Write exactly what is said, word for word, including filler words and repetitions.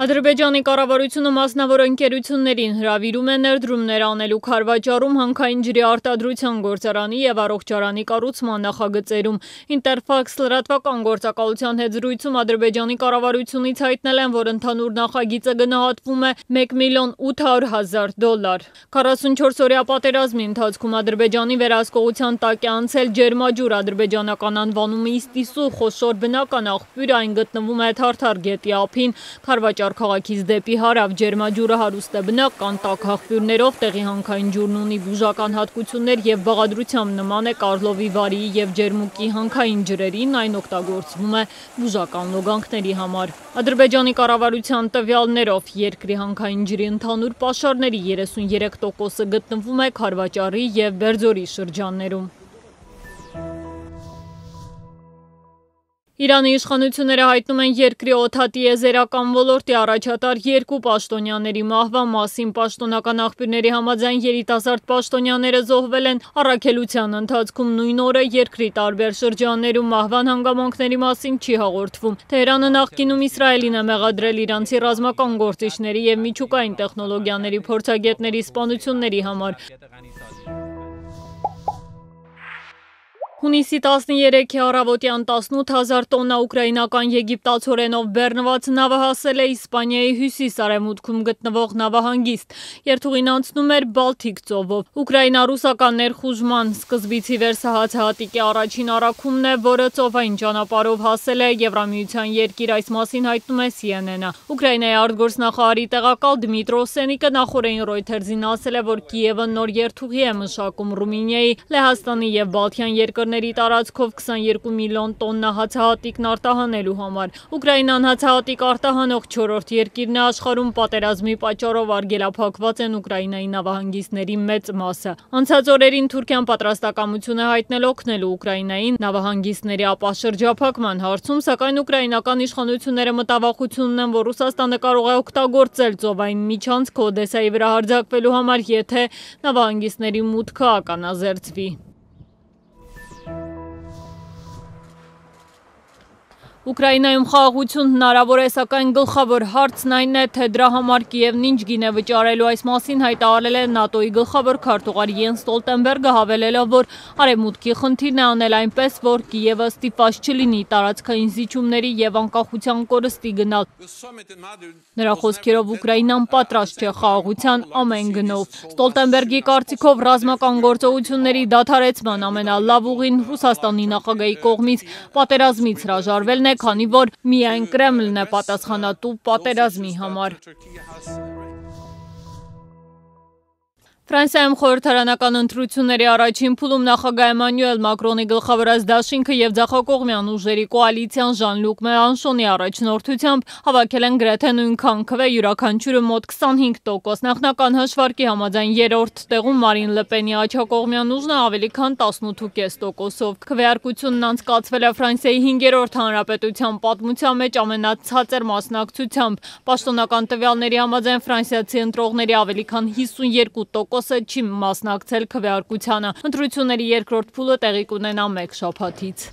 Ադրբեջանի կառավարությունը մասնավոր ընկերություններին հրավիրում է ներդրումներ անելու քարվաճառում, հանքային ջրի արտադրության գործարանի և առողջարանի կառուցման նախագծերում։ Ինտերֆաքս լրատվական գործակալության հետ զրույցում Ադրբեջանի կառավարությունից հայտնել են, որ ընդհանուր նախագիծը գնահատվում է մեկ միլիոն ութ հարյուր հազար դոլար։ քառասունչորս օրյա պատերազմի ընթացքում Ադրբեջանի վերահսկողության տակ է անցել ջերմաջուր ադրբեջանական անվանումը Իստիսու խոշոր բնական աղբյուր, այն գտնվում է Թարթար գետի ափին, Քարվաճառ քաղաքից դեպի հարավ ջերմաջուրը հարուստ է բնական տաք աղբյուրներով, տեղի հանքային ջուրն ունի բուժական հատկություններ և բաղադրությամբ նման է Կարլովի վարիի և Ջերմուկի հանքային ջրերին, այն օգտագործվում է բուժական լոգանքների համար։ Ադրբեջանի կառավարության տվյալներով երկրի հանքային ջրի ընդհանուր պաշարների երեսունյերեք տոկոսը գտնվում է Քարվաճառի և Բերձորի շրջաններում։ Իրանի իշխանությունները հայտնում են երկրի օդատիեզերական ոլորտի առաջատար երկու պաշտոնյաների մահվան մասին։ Պաշտոնական աղբյուրների համաձայն երիտասարդ պաշտոնյաները զոհվել են առաքելության ընթացքում։ Նույն օրը երկրի տարբեր շրջաններում մահվան հանգամանքների մասին չի հաղորդվում։ Թեհրանը նախկինում Իսրայելին է մեղադրել իրանցի ռազմական գործիչների և միջուկային տեխնոլոգիաների փորձագետների սպանությունների համար։ Հունիսի տասներեքի առավոտյան տասնութ հազար տոննա ուկրաինական եգիպտացորենով բեռնված նավը հասել է Իսպանիայի հյուսիս-արևմուտքում գտնվող նավահանգիստ։ Երթուղին անցնում էր Բալթիկ ծովով։ Ուկրաինա-ռուսական ներխուժման սկզբից ի վեր սա հացահատիկի առաջին առաքումն է, որը ծովային ճանապարհով հասել է Եվրամիության երկիր, այս մասին հայտնում է Սի Են Են-ը։ Ուկրաինայի արտգործնախարարի տեղակալ Դմիտրո Սենիկը նախորդին Reuters-ին ասել է, որ Կիևը նոր երթուղի է մշակում Ռումինիայի, Լեհաստանի և Բալթյան երկրների տարածքով քսաներկու միլիոն տոննա հացահատիկն արտահանելու համար։ Ուկրաինան հացահատիկ արտահանող չորրորդ երկիրն է աշխարհում, պատերազմի պատճառով արգելափակված են Ուկրաինայի նավահանգիստների մեծ մասը։ Անցած օրերին Թուրքիան պատրաստակամություն է հայտնել օգնելու Ուկրաինային նավահանգիստների ապաշրջափակման հարցում, սակայն ուկրաինական իշխանությունները մտավախություն ունեն, որ Ռուսաստանը կարող է օգտագործել ծովային միջանցքը Օդեսայի վրա հարձակվելու համար, եթե նավահանգիստների մուտքը ականազերծվի։ Ուկրաինայում խաղաղություն հնարավոր է, սակայն գլխավոր հարցն այն է, թե դրա համար Կիևն ինչ գին է վճարելու։ Այս մասին հայտարարել է ՆԱՏՕ-ի գլխավոր քարտուղար Յենս Ստոլտենբերգը, հավելելով, որ Արևմուտքի խնդիրն է անել այնպես, որ Կիևը ստիպված չլինի տարածքային զիջումների և անկախության կորստի գնալ։ Նրա խոսքերով Ուկրաինան պատրաստ չէ խաղաղության ամեն գնով։ Ստոլտենբերգի կարծիքով ռազմական գործողությունների դադարեցման ամենալավ ուղին Ռուսաստանի նախագահի կողմից պատերազմից հրաժարվելն է, քանի որ միայն Կրեմլն է պատասխանատու պատերազմի համար։ Ֆրանսիայում խորհրդարանական ընտրությունների առաջին փուլում նախագահ Էմանուել Մակրոնի գլխավորած դաշինքը և ձախակողմյան ուժերի կոալիցիան Ժան-Լյուկ Մելանշոնի առաջնորդությամբ հավաքել են գրեթե նույնքան քվե, յուրաքանչյուրը մոտ քսանհինգ տոկոս։ Նախնական հաշվարկի համաձայն երրորդ տեղում Մարին Լը Պենի աջակողմյան ուժն է ավելի քան տասնութ ու կես տոկոսով։ Քվեարկությունն անցկացվել է Ֆրանսիայի հինգերորդ հանրապետության պատմության մեջ ամենացածր մասնակցությամբ։ Պաշտոնական տվյալների համաձայն ֆրանսիացի ընտրողների ավելի քան հիսունյերկու տոկոսը չի մասնակցել քվեարկությանը։ Ընտրությունների երկրորդ փուլը տեղի կունենա մեկ շաբաթից։